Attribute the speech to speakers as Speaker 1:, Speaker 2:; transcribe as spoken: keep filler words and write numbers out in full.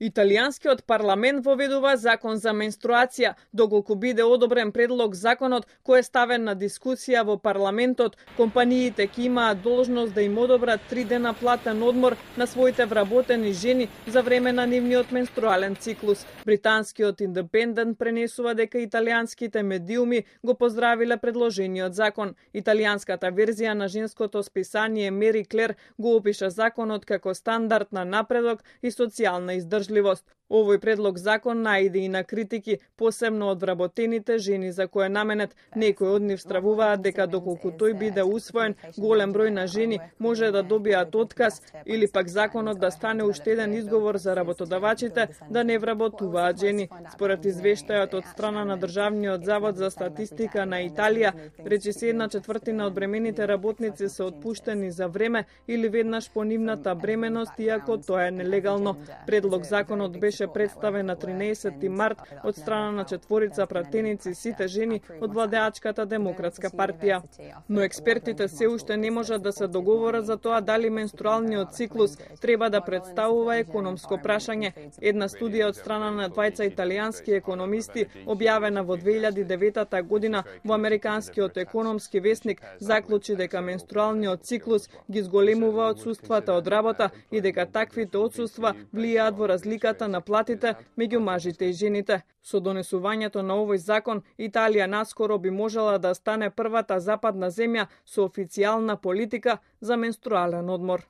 Speaker 1: Италијанскиот парламент воведува закон за менструација, доколку биде одобрен предлог законот кој е ставен на дискусија во парламентот, компаниите ќе имаат должност да им одобрат три дена платен одмор на своите вработени жени за време на нивниот менструален циклус. Британскиот Индепендент пренесува дека италијанските медиуми го поздравиле предложениот закон. Италијанската верзија на женското списание Мери Клер го опиша законот како стандард на напредок и социјална издржливост. Овој предлог закон наиде и на критики, посебно од вработените жени за кои е наменет. Некои од нив стравуваат дека доколку тој биде усвоен, голем број на жени може да добијат отказ или пак законот да стане уште еден изговор за работодавачите да не вработуваат жени. Според извештајот од страна на Државниот завод за статистика на Италија, речиси една четвртина од бремените работници се отпуштени за време или веднаш по нивната бременост, иако тоа е нелегално. Предлог законот беше представен на тринаесетти март од страна на четворица пратеници, сите жени од владеачката Демократска партија. Но експертите се уште не можат да се договорат за тоа дали менструалниот циклус треба да представува економско прашање. Една студија од страна на двајца италијански економисти, објавена во две илјади и девета година во Американскиот економски весник, заклучи дека менструалниот циклус ги зголемува отсуствата од работа и дека таквите отсуства влијаат во разликата на платите меѓу мажите и жените. Со донесувањето на овој закон, Италија наскоро би можела да стане првата западна земја со официјална политика за менструален одмор.